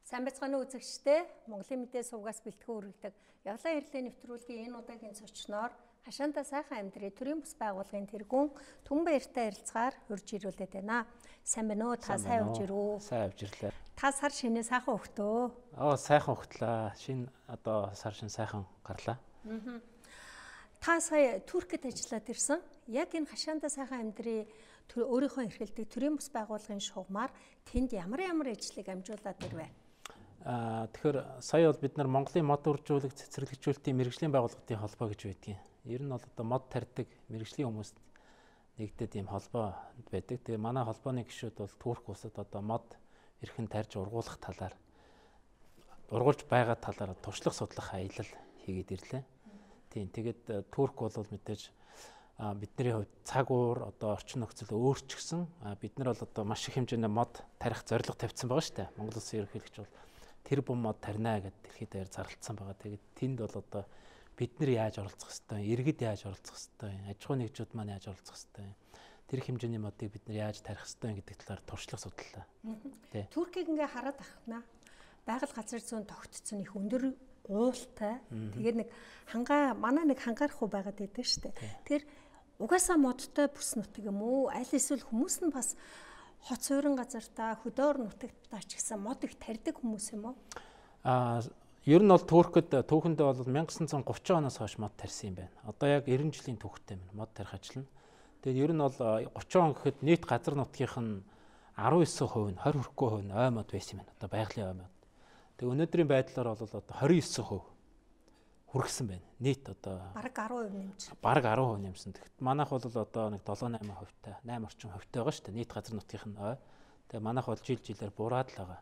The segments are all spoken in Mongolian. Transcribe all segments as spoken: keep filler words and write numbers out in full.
Сайн байцгаана уу үзэгчдээ. Монголын мэдээ сувгаас бэлтгэн хүргэдэг явлаа ярилын нэвтрүүлгийн энэ удаагийн зочноор Хашаанта сайхан амьдрий төрийн бус байгууллагын тэргүүн Түмбаяртай ярилцгаар хурж ирүүлээд байна. Сайн байна уу? Та сайн явж ирүү? Сайн явж ирлээ. Та сар шинэ сайхан өгтөө. Аа сайхан өгтлээ. Шинэ одоо сар шинэ сайхан гарлаа. Аа. Та сая Туркид ажиллаад ирсэн. Яг энэ Хашаанта сайхан амьдрий өөрийнхөө эрхэлдэг төрийн бус байгууллагын шугамар тэнд ямар ямар ажлыг амжуулаад ирвэ? Аа тэгэхээр сая бол бид нар Монголын мод үржүүлэг цэцэрлэгжүүлэлтийн мэрэгжлийн байгууллагын холбоо гэж байдгийг. Ер нь бол одоо мод тарьдаг мэрэгжлийн хүмүүст нэгдээд ийм холбоо байдаг. Тэгээ манай холбооны гишүүд бол Турк улсад одоо мод эрхэн тарьж ургуулах талаар ургуулж байгаа талаар туршлага судлах аялал хийгээд ирлээ. Тийм тэгээд Турк бол мэдээж бидний хувьд цаг уур одоо орчин нөхцөл өөрчлөгсөн. Бид нар бол одоо маш их хэмжээний мод тарих зорилго тавьсан байгаа шүү дээ. Монгол Улсын ерөнхийлөгч бол тэр бум мод тарина гэдээ дэлхийд даяар зарлалцсан байгаа. Тэгээд тэнд бол одоо бид нар яаж оролцох ёстой, иргэд яаж оролцох ёстой, аж ахуйн нэгжүүд маань яаж оролцох ёстой, тэр хэмжээний модыг бид нар яаж тарих ёстой гэдэг талаар туршлага судлаа. Туркийг ингээ хараад ахнаа. Байгаль газар зүйн тогтцсон их өндөр уултай. Тэгээд нэг хангаа манай нэг хангаарах уу байгаад байдаг шүү дээ. Тэр угаасаа модтой бүс нутаг юм уу? Аль эсвэл хүмүүс нь бас хот суурин газартаа хөдөөр нутагтаа ч гэсэн мод их тарьдаг хүмүүс юм уу? Аа ер нь бол Туркид түүхэндээ бол 천ix thirty оноос хойш мод тарьсан юм байна. Одоо яг ninety жилийн түүхтэй байна мод тарих ажил нь. Тэгээд ер нь бол thirty он гэхэд нийт газар нутгийнх нь nineteen percent нь twenty хүрэхгүй хувь нь ой мод байсан юм байна. Одоо байгалийн ой мод. Тэгээд өнөөдрийн байдлаар бол одоо twenty-nine percent хүргэсэн байна. Нийт одоо бараг ten percent нэмж. Бараг ten percent нэмсэн. Тэгэхэд манайх бол одоо нэг seven eight хувьтай, eight орчим хувьтай байгаа шүү дээ. Нийт газар нутгийнх нь ой. Тэгээ манайх бол жил жилээр бураад л байгаа.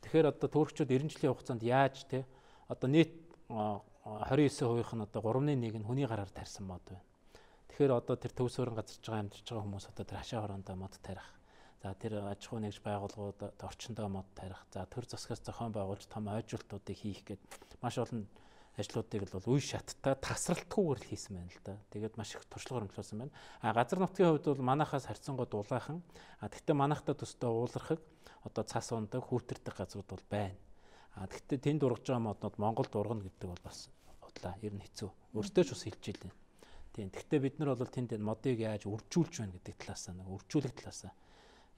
Тэгэхээр одоо туркчууд ninety жилийн хугацаанд яаж те одоо нийт twenty-nine percent нь одоо three-ны one нь хүний гараар тарьсан мод байна. Тэгэхээр одоо тэр төв суурин газарч байгаа амьдарч байгаа хүмүүс одоо тэр хашаа хороондоо мод тарих. За тэр аж ахуй нэгж байгууллагууд орчиндөө мод тарих. За төр засгаас зохион байгуулж том ойжуултуудыг хийх гээд маш олон ажлуудыг бол үе шаттай тасралтгүйгээр л хийсэн байна л да. Тэгээд маш их туршлага хөрөнгөлүүлсэн байна. А газар нутгийн хувьд бол манайхаас харьцангуй дулаахан. А тэгвэл манайхтай төстэй уулархаг одоо цас ундаг хүүтэрдэг газрууд бол байна. А тэгвэл тэнд ургаж байгаа моднууд Монголд ургана гэдэг бол бас бодлаа. Ер нь хэцүү. Өөртөө ч бас хэлж илээ. Тийм. Тэгвэл бид нар бол тэнд модыг яаж үржүүлж байна гэдэг талаас нь үржүүлэх талаас нь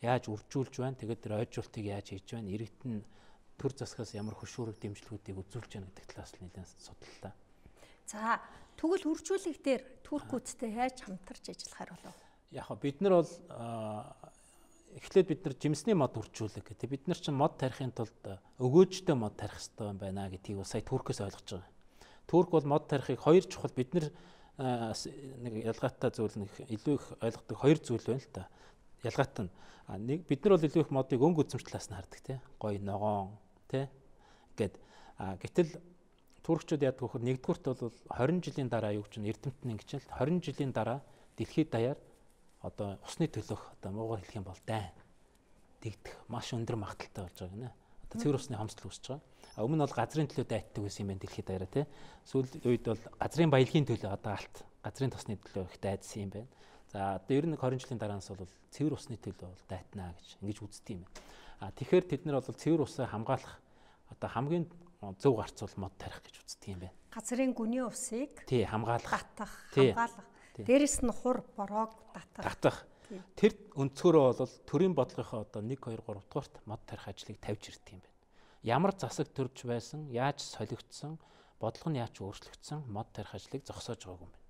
яаж үржүүлж байна. Тэгээд тэр ойжуултыг яаж хийж байна. Иргэд нь төр засгаас ямар хөшүүрэг дэмжлэгүүдийг үзүүлж байна гэдэг талаас нь нэлээд судаллаа. За тэгвэл үржүүлэх дээр туркуудтай яаж хамтарч ажиллахаар болов? Яг бид нар бол эхлээд бид нар жимсний мод үржүүлэх гэдэг. Бид нар чинь мод тарихын тулд өгөөжтэй мод тарих хэрэгтэй юм байна гэдгийг сая Туркээс ойлгож байгаа. Турк бол мод тарихыг хоёр чухал бид нар нэг ялгаатай зүйл нэг илүү их ойлгодог хоёр зүйл байна л та. Ялгаатай нь нэг бид нар бол илүү их модыг өнгө үзэмж талаас нь хардаг тий. Гоё ногоон тий гэд гэтэл туркчууд яадаг вөхөр нэгдүгürt бол twenty жилийн дараа юу гэж эрдэмтэн ингэж л twenty жилийн дараа дэлхийд даяар одоо усны төлөх одоо муугар хэлэх юм бол дайн дэгдэх маш өндөр магадaltaй болж байгаа гинэ. Одоо цэвэр усны хомсдол үүсэж байгаа. А өмнө нь бол газрын төлөө дайтдаг байсан юм байна дэлхийд даяараа тий. Сүүл үед бол газрын баялагын төлөө одоо алт газрын тосны төлөө их дайдсан юм байна. За одоо ер нь twenty жилийн дараанаас бол цэвэр усны төлөө бол дайтнаа гэж ингэж үздэг юм байна. А тэгэхээр тэд нар бол цэвэр усаа хамгаалах одоо хамгийн зөв гарцуул мод тарих гэж үздэг юм байна. Газрын гүний усыг тий хамгаалах, татах, хамгаалах. Дээрэс нь хур бороог татах. Татах. Тэр өнцгөрөө бол төрийн бодлогынхоо одоо one two three дугаарт мод тарих ажлыг тавьж ирдэг юм байна. Ямар засаг төрж байсан, яаж солигдсон, бодлого нь яаж өөрчлөгдсөн мод тарих ажлыг зогсоож байгаагүй юм байна.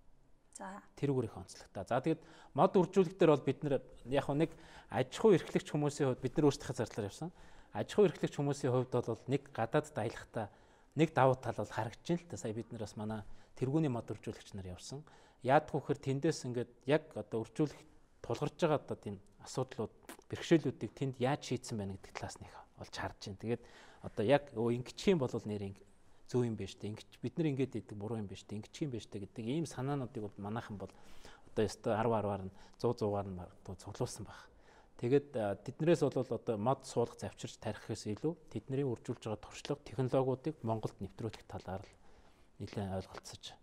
За тэрүүгээр их онцлогтой. За тэгээд мод үржүүлэх дээр бол бид нар яг нэг аж ахуй эрхлэгч хүмүүсийн хувьд бид нар өөрсдийнхээ зардлаар явсан. Аж ахуй эрхлэгч хүмүүсийн хувьд бол нэг гадаад даялахтаа нэг давуу тал бол харагдаж байна л да. Сая бид нар бас манай тэргүүний мод үржүүлэгч нар явсан. Яадах вөхөр тэндээс ингээд яг одоо үржүүлэх тулгарч байгаа одоо тийм асуудлууд, бэрхшээлүүдийг тэнд яаж шийдсэн байна гэдэг талаас нь их олж харж байна. Тэгээд одоо яг өө ингэчих юм бол нэр ингэ зөв юм биш үү? Ингэж бид нар ингэж идэг буруу юм биш үү? Ингэчих юм биш үү гэдэг ийм санаануудыг бол манайхан бол одоо ёстой ten ten-аар нь one hundred one-аар нь цуглуулсан баг. Тэгээд тэднэрээс бол одоо мод суулгах завчирч тарихээс илүү тэдний үржүүлж байгаа туршлага, технологиудыг Монголд нэвтрүүлэх талаар л нэлээд ойлголцож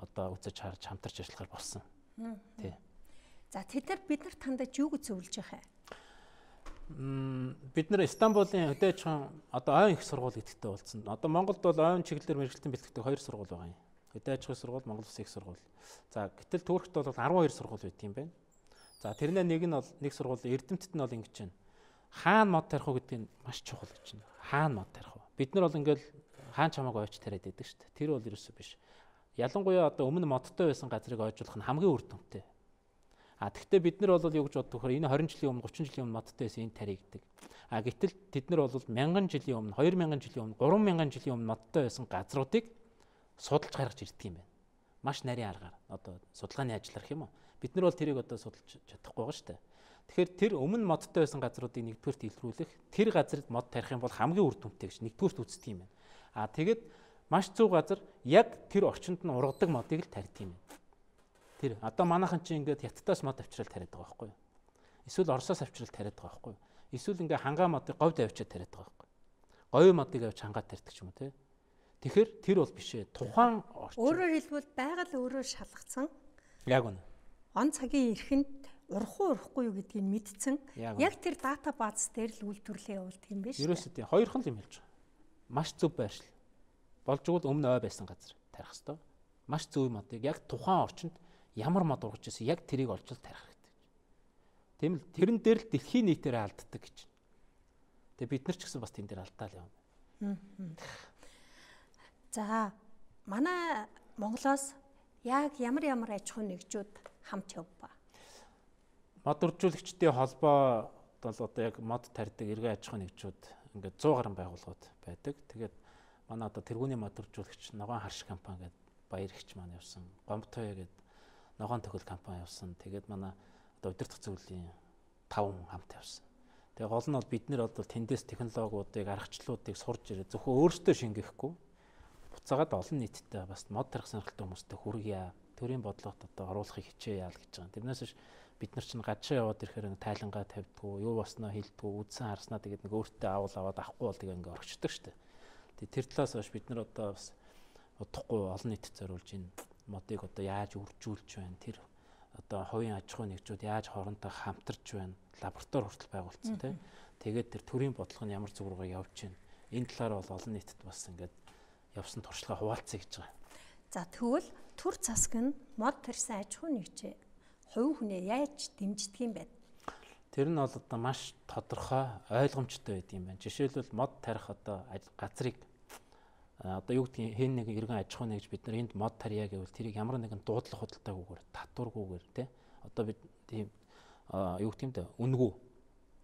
одоо үзэж харж хамтарч ажиллахаар болсон. Тий. За тэд нар бид нарт хандаж юу гэж зөвлөж яхаа? Бид нэр Стамбулын хөдөө аж ахуйн одоо ойн их сургууль гэдэгтэй болсон. Одоо Монголд бол ойн чиглэлээр мэргэжилтийн бэлтгэдэг хоёр сургууль байгаа юм. Хөдөө аж ахуйн сургууль, Монгол Улсын их сургууль. За гэтэл Туркт бол арван хоёр сургууль байт юм байна. За тэрнээ нэг нь бол нэг сургууль Эрдэмтэд нь бол ингэж байна. Хаана мод тарих уу гэдэг нь маш чухал гэж байна. Хаана мод тарих вэ? Бид нар бол ингээл хаан чамааг ойч тариад байдаг шүү дээ. Тэр бол ерөөсөө биш. Ялангуяа одоо өмнө модтой байсан газрыг ойжуулах нь хамгийн үр дүнтэй. А тэгвэл бид нар бол юу гэж боддог вэ? Энэ двадцать жилийн өмнө, тридцать жилийн өмнө модтой байсан энэ тари гэдэг. А гэтэл тэд нар бол мянган жилийн өмнө, две мянган жилийн өмнө, три мянган жилийн өмнө модтой байсан газруудыг судалж гаргаж ирдэг юм байна. Маш нарийн аргаар одоо судалгааны ажил арах юм уу? Бид нар бол тэрийг одоо судалж чадахгүй байгаа шүү дээ. Тэгэхээр тэр өмнө модтой байсан газруудыг нэгдүгürt илрүүлэх, тэр газарт мод тарих юм бол хамгийн үр дүнтэй гэж нэгдүгürt үздэг юм байна. А тэгээд маш зөв газар яг тэр орчинд нь ургадаг модыг л тарьдаг юм байна. Тэр одоо манайхан чинь ингээд Хятадаас мод авчрал тариад байгаа байхгүй юу? Эсвэл Оросоос авчрал тариад байгаа байхгүй юу? Эсвэл ингээд хангаа модыг говьд авчиад тариад байгаа байхгүй юу? Говь модыг авч хангаад тарьдаг ч юм уу те. Тэгэхээр тэр бол биш ээ. Тухайн орчин. Өөрөөр хэлбэл байгаль өөрөө шалгацсан. Яг үнэ. Он цагийн эрхэнд урах уу урахгүй юу гэдгийг мэдсэн. Яг тэр дата бааз дээр л үйлдвэрлэлээ явуулдаг юм биш үү? Ерөөсөө тийм хоёрхан л юм хэлж байгаа. Маш зөв байршил. Болжгол өмнө ой байсан газар тарих хэвээр. Маш зөв модыг яг тухайн орчинд ямар мод ургаж ирсэн яг тэрийг олж тарих хэрэгтэй. Тийм л тэрэн дээр л дэлхийн нийтээр алддаг гэж. Тэгээ бид нар ч гэсэн бас тэн дээр алдаа л юм. За манай Монголоос яг ямар ямар аж ахуйн нэгжүүд хамт явба. Мод уржуулагчдын холбоо бол одоо яг мод тарьдаг эргэн аж ахуйн нэгжүүд ингээд сто гаруй байгууллагууд байдаг. Тэгээд манай одоо тэргүүний мод уржуулагч Ногоон Харш компани гэдэг баяр ихч маань явсан. Гомбтоё гэдэг Ногоон төхөл компани явсан. Тэгээд манай одоо удирдах зөвлөлийн таван хамт явсан. Тэгээ гол нь бол бид нэр бол тэндээс технологиудыг, аргачлалуудыг сурж ирээ. Зөвхөн өөрсдөө шингээхгүй буцаагаад олон нийттэй бас мод тарих сонирхолтой хүмүүстэй хүргье. Төрийн бодлогот одоо оруулахыг хичээе яа л гэж байгаа. Тэрнээс биш бид нар чинь гадшаа яваад ирэхээр нэг тайлангаа тавьдгүү, юу босноо хэлдгүү, үдсэн харснаа тэгээд нэг өөртөө авал аваад авахгүй бол тэгээ ингээ орчдөг штэ. Тэгээд тэр талаас хойш бид нар одоо бас удахгүй олон нийтэд зориулж энэ модыг одоо яаж үржүүлж байна, тэр одоо хувийн аж ахуйн нэгжүүд яаж хоорондоо хамтарч байна, лаборатори хүртэл байгуулсан тийм. Тэгээд тэр төрийн бодлого нь ямар зүг рүүгээ явж байна. Энэ талаар бол олон нийтэд бас ингээд явсан туршлага хуваалцъя гэж байгаа. За тэгвэл төр засаг нь мод тарьсан аж ахуйн нэгжээ хувь хүнээ яаж дэмждэг юм бэ? Тэр нь бол одоо маш тодорхой ойлгомжтой байд юм байна. Жишээлбэл мод тарих одоо газрыг одоо юу гэдгийг хэн нэг иргэн аж ахуйн нэгж бид нар энд мод тарья гэвэл тэрийг ямар нэгэн дуудлага худалдаагүйгээр татваргүйгээр тий одоо бид тийм юу гэх юм бэ үнэгүй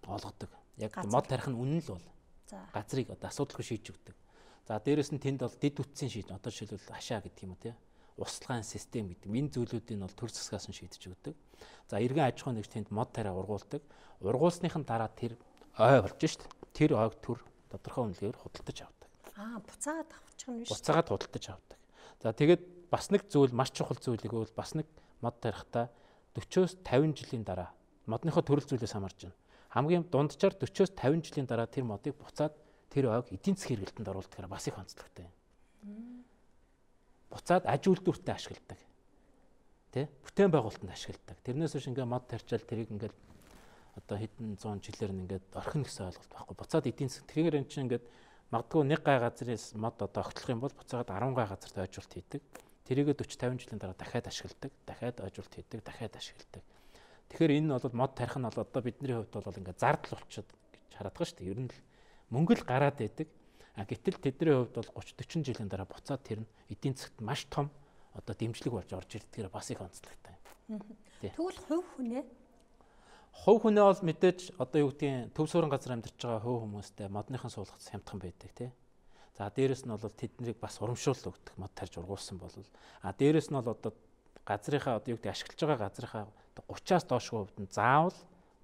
олгодог. Яг мод тарих нь үнэн л бол газрыг одоо асуудалгүй шийдэж өгдөг. За дээрэс нь тэнд бол дэд үтсийн шийдвэр одоо жишээлбэл хашаа гэдэг юм уу тий услахын систем гэдэг энэ зүйлүүдийг бол төр засгаас нь шийдэж өгдөг. За иргэн аж ахуйн нэгж тэнд мод тариа ургуулдаг. Ургуулсныхан дараа тэр ой болж шít. Тэр ойг төр тодорхой үнэлгээр худалдаж авдаг. Аа буцаагаад авчих нь биш. Буцаагаад худалдаж авдаг. За тэгээд бас нэг зүйл маш чухал зүйлийг бол бас нэг мод тарихтаа forty-оос fifty жилийн дараа модныхоо төрөл зүйлээс хамаарч байна. Хамгийн дунджаар forty-оос fifty жилийн дараа тэр модыг буцаад тэр ойг эдийн засгийн хэрэгэлтэнд оруулдаг бас их онцлогтой юм. Буцаад аж үйлдвэртээ ашигладаг. Тэ? Бүтээн байгуулалтанд ашигладаг. Тэрнээс биш ингээ мод тарьчаал тэрийг ингээ одоо хэдэн зуун жилээр нь ингээ орхино гэсэн ойлголт байхгүй. Буцаад эдийн засаг тэгэхээр энэ чинь ингээ магадгүй нэг гай газрээс мод одоо огтлох юм бол буцаагаад ten гай газарт ойжуулт хийдэг. Тэрийгээ forty fifty жилийн дараа дахиад ашигладаг, дахиад ойжуулт хийдэг, дахиад ашигладаг. Тэгэхээр энэ нь бол мод тарих нь бол одоо бидний хувьд бол ингээ зардал болчиход гэж хараад байгаа шүү дээ. Ер нь л мөнгө л гараад байдаг. А гэтэл тэдний хувьд бол thirty forty жилийн дараа буцаад тэр нь эдийн засагт маш том одоо дэмжлэг болж орж ирдгээр бас их онцлогтой. Тэгвэл хувь хүнээ хувь хүнээ бол мэдээж одоо юу гэдгийг төв суурин газар амьдарч байгаа хувь хүмүүстэй модныхан суулгах хямдхан байдаг тий. За дээрэс нь бол тэднийг бас урамшуул өгдөг мод тарьж ургуулсан бол а дээрэс нь бол одоо газрынхаа одоо юу гэдэг ашиглаж байгаа газрынхаа thirty-аас доошгүй хувьд нь заавал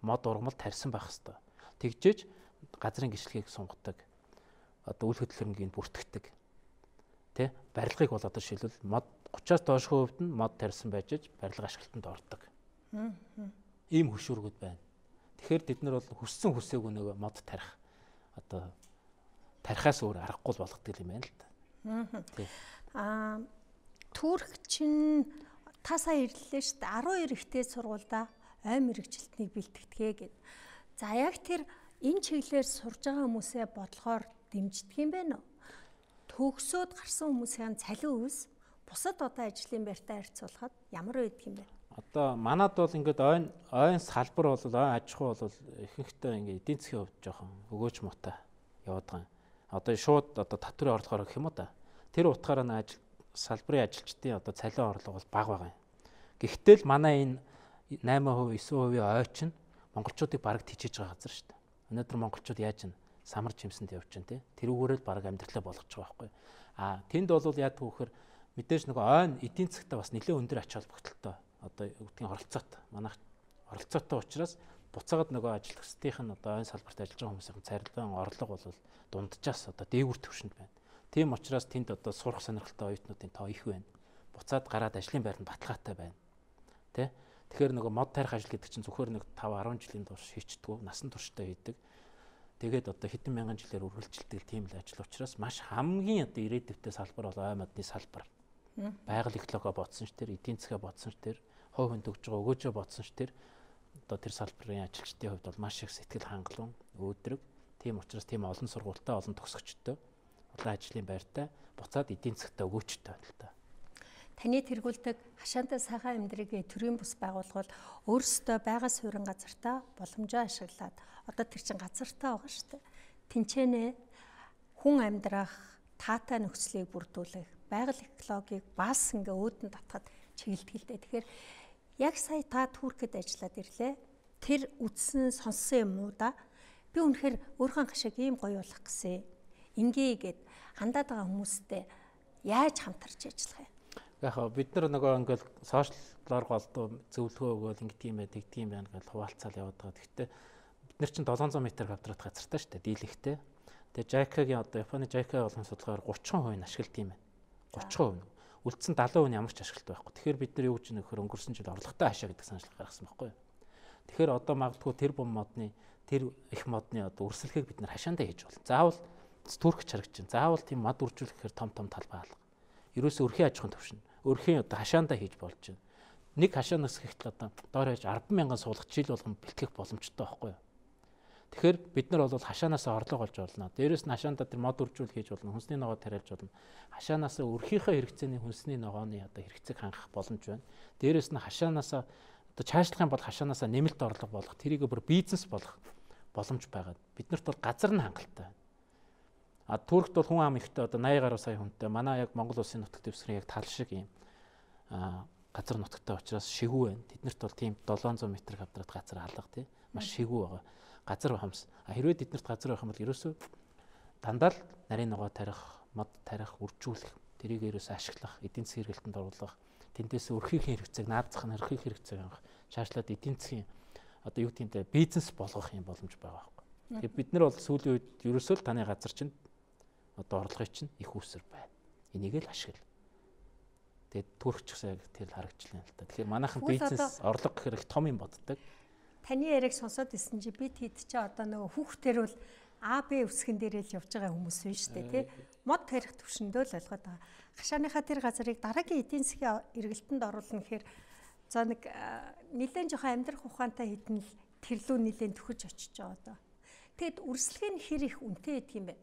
мод ургамал тарьсан байх хэвээр. Тэгжээж газрын гишгэлгийг сунгадаг. Одоо үйл хөдлөлмгийг бүртгэдэг. Тэ? Барилгыг бол одоо шилбэл мод thirty-аас доошгүй хувьд нь мод тарьсан байж барилга ашиглалтанд ордог. Ийм хөшүүргүүд байна. Тэгэхээр бид нар бол хүссэн хүсээгүй нөгөө мод тарих одоо тарихаас өөр аргагүй болгодог юм байна л да. Аа Турк чинь тасаа ирлээ шүү дээ. twelve эрэгтэй сургуульда ой мэрэгчлэлтнийг бэлтгэдэг гэд. За яг тэр энэ чиглэлээр сурж байгаа хүмүүсээ бодлохоор дэмждэг юм байна уу? Төгсөөд гарсан хүмүүсийн цалин өвс бусад одоо ажлын байртай харьцуулахад ямар байдаг юм бэ? Одоо манад бол ингээд ойн ойн салбар бол ойн аж ахуй бол ихэнхдээ ингээд эдийн засгийн хувьд жоохон өгөөж муутай яваад байгаа юм. Одоо шууд одоо татврын орлогоор гэх юм уу та. Тэр утгаараа н ажил салбарын ажилчдын одоо цалин орлого бол бага байгаа юм. Гэхдээ л манай энэ найман хувь девять хувийн ойч нь монголчуудыг бараг тижиж байгаа газар шүү дээ. Өнөөдөр монголчууд яаж н самар жимсэнд явж байна те. Тэрүүгээрээ л бараг амьдралаа болгож байгаа байхгүй. А тэнд бол яадаг вэ гэхээр мэдээж нөгөө ойн эдийн засгтаа бас нэлээд өндөр ач холбогдолтой. Одоо үгдгийн оролцоотой. Манайх оролцоотой учраас буцаагаад нөгөө ажил төсдийнх нь одоо ойн салбарт ажиллаж байгаа хүмүүсийн царилан орлого бол дунджаас одоо дээгүүр түвшинд байна. Тийм учраас тэнд одоо сурах сонирхолтой оюутнуудын тоо их байна. Буцаад гараад ажлын байранд баталгаатай байна. Тэ? Тэгэхээр нөгөө мод тарих ажил гэдэг чинь зөвхөр нэг five ten жилийн турш хийчдэггүй, насан туршдаа хийдэг. Тэгээд одоо хэдэн мянган жилээр үргэлжилдэг тийм л ажил учраас маш хамгийн одоо ирээдүйтэй салбар бол ой модны салбар. Байгаль экологи бодсон ч тэр, эдийн засгаа бодсон ч тэр, хувь хүнд өгж байгаа өгөөжөө бодсон ч тэр одоо тэр салбарын ажилчдын хувьд бол маш их сэтгэл хангалуун, өөдрөг. Тийм учраас тийм олон сургуультай, олон төгсөгчтэй, олон ажлын байртай буцаад эдийн засгтаа өгөөчтэй байна л та. Таны тэргүүлдэг хашаантай сайхан амьдрыг төрийн бус байгуулгууд өөрсдөө байгаа суурин газартаа боломжоо ашиглаад одоо тэр чин газартаа байгаа шүү дээ. Тинчэнэ хүн амьдрах таатай нөхцөлийг бүрдүүлэх, байгаль экологийг бас ингээ өөдөн татхад чиглэдэг л дээ. Тэгэхээр яг сая та Туркэд ажиллаад ирлээ. Тэр үдсэн сонссон юм уу да? Би үнэхээр өөрхөн хашааг ийм гоё болох гэсэн. Ингээгээд хандаад байгаа хүмүүстэй яаж хамтарч ажиллах юм? Яг бид нар нөгөө ингээл сошиаллоор голдуу зөвлөгөө өгөөл ингэдэг юм байна, тэгдэг юм байна гэж хуваалцаал яваад байгаа. Гэхдээ бид нар чинь seven hundred метр квадрат газартай шүү дээ, дийлэгтэй. Тэгээ Жайкагийн одоо Японы Жайка болгон судалгаар thirty percent ашиглалт юм байна. thirty percent. Үлдсэн seventy percent ямар ч ашиглалт байхгүй. Тэгэхээр бид нар юу гэж нөхөр өнгөрсөн жил орлоготой хашаа гэдэг саналыг гаргасан байхгүй юу? Тэгэхээр одоо магадгүй тэр бом модны тэр их модны одоо өрсөлдөхийг бид нар хашаандаа хийж болно. Заавал Турк чарагч чинь. Заавал тийм мод үржүүлэхээр том том талбай алга. Ерөөсөө өрхийн аж ахуйн төвшин. Өрхийн одоо хашаандаа хийж болж байна. Нэг хашаанаас гэхтэл одоо доор хаяж ten thousand суулгах жил болгон бэлтгэх боломжтой байхгүй юу? Тэгэхээр бид нар бол хашаанаасаа орлого олж болно. Дээрээс нь хашаандаа тэр мод үржүүл хийж болно. Хүнсний ногоо тариалж болно. Хашаанаасаа өрхийнхөө хэрэгцээний хүнсний ногооны одоо хэрэгцээг хангах боломж байна. Дээрээс нь хашаанаасаа одоо цаашлах юм бол хашаанаасаа нэмэлт орлого болох, тэрийг бүр бизнес болгох боломж байгаа. Биднэрт бол газар нь хангалттай байна. А Туркт бол хүн ам ихтэй одоо eighty гаруй сая хүнтэй. Манай яг Монгол улсын нутаг дэвсгэрийн яг тал шиг юм а газар нутагтай учраас шигүү байна. Тэднэрт бол тийм seven hundred метр квадрат газар алга тий. Маш шигүү байгаа. Газар хамс. А хэрвээ тэднэрт газар байх юм бол ерөөсөө дандаа л нарийн ногоо тарих, мод тарих, үржүүлэх, тэрийг ерөөсөө ашиглах, эдийн засгийн хэрэгэлтэнд оруулах, тэндээс өрхийн хэрэгцээг наадзах нь өрхийн хэрэгцээг авах, шаашлаад эдийн засгийн одоо юу гэдэг нь бизнес болгох юм боломж байгаа байхгүй. Тэгээд бид нар бол сүүлийн үед ерөөсөө л таны газар чинь одоо орлогын чинь их үүсэр байна. Энийг л ашигла. Тэгээд Туркчсаа тэр харагчлаа л та. Тэгэхээр манайхан бизнес орлого гэхээр их том юм боддог. Таны яриг сонсоод исэн чи бид хэд ч одоо нөгөө хүүхдэр бол А Б үсгэн дээрээ л явж байгаа хүмүүс байна шүү дээ тий. Мод тарих төвшөндөө л ойлгоод байгаа. Хашааныхаа тэр газрыг дараагийн эдийн засгийн эргэлтэнд оруулна гэхээр за нэг нэлээд жоохон амьдрах ухаантай хэдэн л тэрлүү нэлээд төхөж очиж байгаа одоо. Тэгэд үрсэлгээ нь хэр их үнэтэй байдаг юм бэ?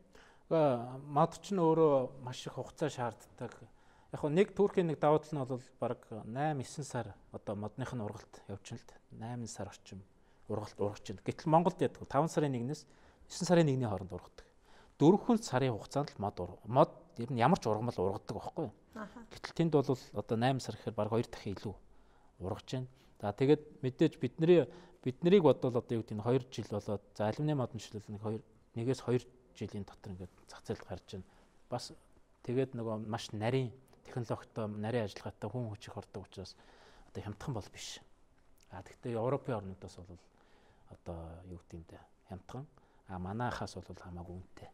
Мод ч нь өөрөө маш их хугацаа шаарддаг. Яг хөө нэг Туркийн нэг давуу тал нь бол баг eight nine сар одоо модных нь ургалт явчихна л eight сар орчим ургалт ургаж байна. Гэтэл Монголд яддаг five сарын нэгнээс nine сарын нэгний хооронд ургадаг. Дөрвөн сарын хугацаанд л мод мод ер нь ямар ч ургамал ургадаг байхгүй юу? Гэтэл тэнд бол одоо eight сар гэхээр баг two дахин илүү ургаж байна. За тэгээд мэдээж бидний биднийг бодвол одоо юу гэдэг нь two жил болоод за алюминий модны шилэл нэг two нэгээс two жилийн дотор ингээд зах зээлд гарч байна. Бас тэгээд нөгөө маш нарийн технологитой, нарийн ажиллагаатай хүн хүч их ордог учраас одоо хямдхан бол биш. А тэгвэл Европын орнуудаас бол одоо юу гэдэг юм бэ? Хямдхан. А манайхаас бол хамаагүй үнэтэй.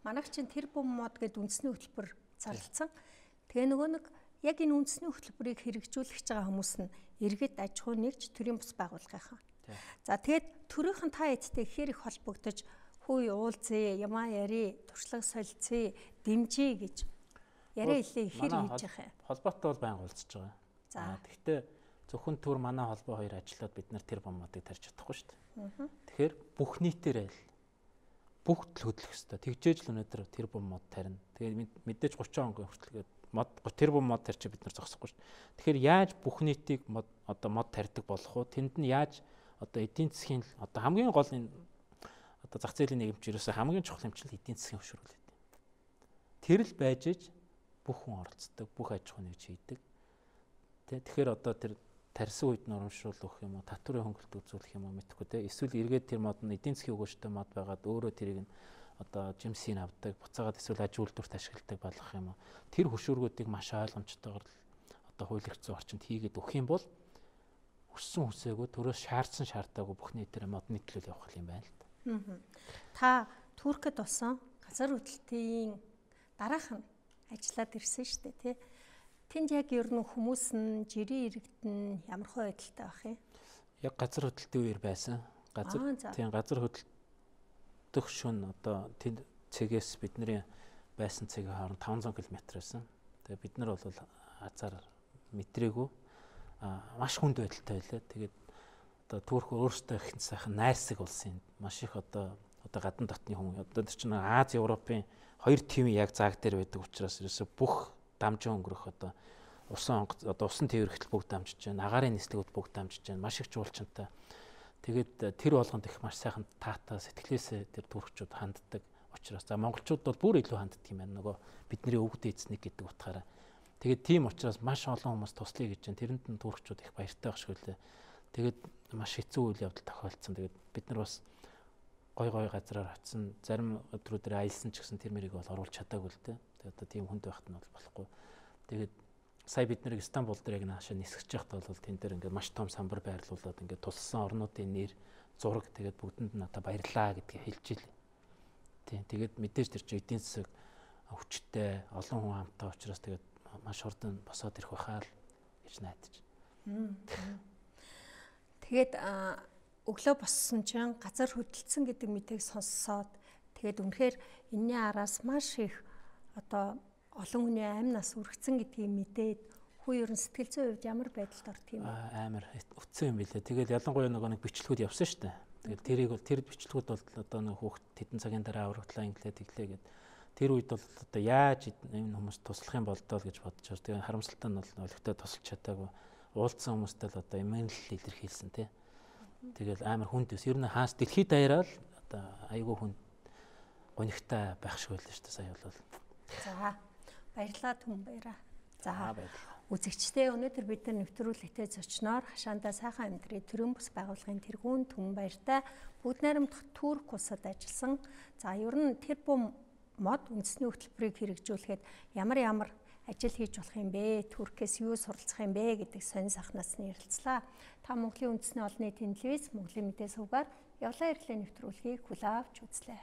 Манайх чинь тэр бум мод гэдэг үндэсний хөтөлбөр зарлцсан. Тэгээ нөгөө нэг яг энэ үндэсний хөтөлбөрийг хэрэгжүүлэх гэж байгаа хүмүүс нь иргэд аж ахуй нэгж төрийн бус байгууллагынхаа. За тэгээд төрийнхэн та эдтэй ихээр их холбогдож хүй уулзъя, ямаа яри, туршлага солилцъя, дэмжиж гэж яриа хэлээ ихээр хийж байгаа юм. Холбоотой бол байнга уулзж байгаа. За тэгвэл зөвхөн төр манай холбоо хоёр ажиллаад бид нар тэр бомбуудыг тарьж чадахгүй шүү дээ. Тэгэхээр бүх нийтээрээ л бүх төл хөдлөх ёстой. Тэгжээж л өнөөдөр тэр бум мод тарина. Тэгээд мэдээж гурван хоногийн хүртэл мод тэр бум мод тарьчих бид нар зогсохгүй шүү. Тэгэхээр яаж бүх нийтийг мод одоо мод тарьдаг болох вэ? Тэнд нь яаж одоо эдийн засгийн одоо хамгийн гол энэ одоо зах зээлийн нийгэмч ерөөсөө хамгийн чухал хэмжил эдийн засгийн хөшрүүл гэдэг. Тэр л байж иж бүх хүн оролцдог, бүх аж ахуй нэгж хийдэг. Тэ тэгэхээр одоо тэр тарьсан үед нь урамшуул өгөх юм уу, татварын хөнгөлөлт үзүүлэх юм уу мэдэхгүй те. Эсвэл эргээд тэр мод нь эдийн засгийн өгөөжтэй мод байгаад өөрөө тэрийг нь одоо жимсийг авдаг, буцаагаад эсвэл аж үйлдвэрт ашигладаг болгох юм уу. Тэр хөшүүргүүдийг маш ойлгомжтойгоор одоо хууль эрх зүйн орчинд хийгээд өгөх юм бол өссөн хүсээгөө төрөөс шаардсан шаардаагүй бүх нийтээр модны төлөөл явах юм байна л да. Та Туркид болсон газар хөдлөлтийн дараах нь ажиллаад ирсэн шүү дээ тий. Тэнд яг ер нь хүмүүс нь жирийн иргэд нь ямар хөө байдалтай байх юм? Яг газар хөдлөлтийн үеэр байсан. Газар тийм газар хөдлөлтөх шөнө одоо тэнд цэгээс бидний байсан цэгийн хооронд таван зуун километр байсан. Тэгээ бид нар бол азар мэдрээгүй маш хүнд байдалтай байлаа. Тэгээд одоо Турк өөрсдөө их сайхан найрсаг улсын маш их одоо одоо гадна дотны хүн одоо тэр чинь Аз Европын хоёр тивийн яг зааг дээр байдаг учраас ерөөсө бүх дамжин өнгөрөх одоо усан одоо усан тээвэрхтэл бүгд дамжиж байна. Агаарын нислэгүүд бүгд дамжиж байна. Маш их жуулчантай. Тэгээд тэр болгонд их маш сайхан таатаа сэтгэлээсээ тэр туркчууд ханддаг учраас за монголчууд бол бүр илүү ханддаг юм байна. Нөгөө бидний өвгд эзник гэдэг утгаараа. Тэгээд тийм учраас маш олон хүмүүс туслая гэж байна. Тэрэнд нь туркчууд их баяртай байх шиг үлээ. Тэгээд маш хэцүү үйл явдал тохиолдсон. Тэгээд бид нар бас гой гой газраар очисон, зарим өдрүүдээр аялсан ч гэсэн тэр мэрийг бол оруулах чадаагүй л дээ. Тэгээд одоо тийм хүнд байхад нь бол болохгүй. Тэгээд сая бид нэр Стамбул дээр яг наашаа нисгэж байхад бол тэн дээр ингээд маш том самбар байрлуулад ингээд тулсан орнуудын нэр, зураг тэгээд бүгдэнд нь одоо баярлаа гэдгийг хэлж илээ. Тийм тэгээд мэдээж тэр чинь эдийн засаг хүчтэй, олон хүн хамтаа учраас тэгээд маш хурдан босоод ирэх байхаа л гэж найдаж. Тэгээд өглөө боссон чинь газар хөдөлсөн гэдэг мэдээг сонссоод тэгээд үнэхээр энэний араас маш их одоо олон хүний амь нас үргэцэн гэдгийг мэдээд хүү ерөн сэтгэл зүйн хувьд ямар байдалд ордог юм бэ? Амар өцсөн юм билээ. Тэгээд ялангуяа нөгөө нэг бичлэгүүд явсан шүү дээ. Тэгээд тэрийг бол тэр бичлэгүүд бол одоо нэг хүүхд хэдэн цагийн дараа аврагдлаа инглээ тэглээ гэд тэр үед бол одоо яаж энэ хүмүүс туслах юм болдоо гэж бодож байгаа. Тэгээд харамсалтай нь бол өлегтэй тусалж чадаагүй. Уулзсан хүмүүстэй л одоо эмээн л илэрхийлсэн тий. Тэгэл амар хүнд өс. Ер нь хаас дэлхийд даяараа л одоо айгүй хүн гонигтай байх шиг байлаа шүү дээ сая бол. За баярлалаа түн баяраа. За баярлалаа. Үзэгчдээ өнөөдөр бид нар нэвтрүүлэгтээ зочноор хашаандаа сайхан амьдрий төрийн бус байгууллагын тэргүүн түн баяртай бүгд найрамдах Турк улсад ажилласан. За ер нь тэр бум мод үндэсний хөтөлбөрийг хэрэгжүүлэхэд ямар ямар ажил хийж болох юм бэ? Туркээс юу суралцах юм бэ гэдэг сонин сахнаас нь ярилцлаа. Та Монголын үндэсний олон нийтийн телевиз, Монголын мэдээ сувгаар явлаа ирлээ нэвтрүүлгийг хүлээн авч үзлээ.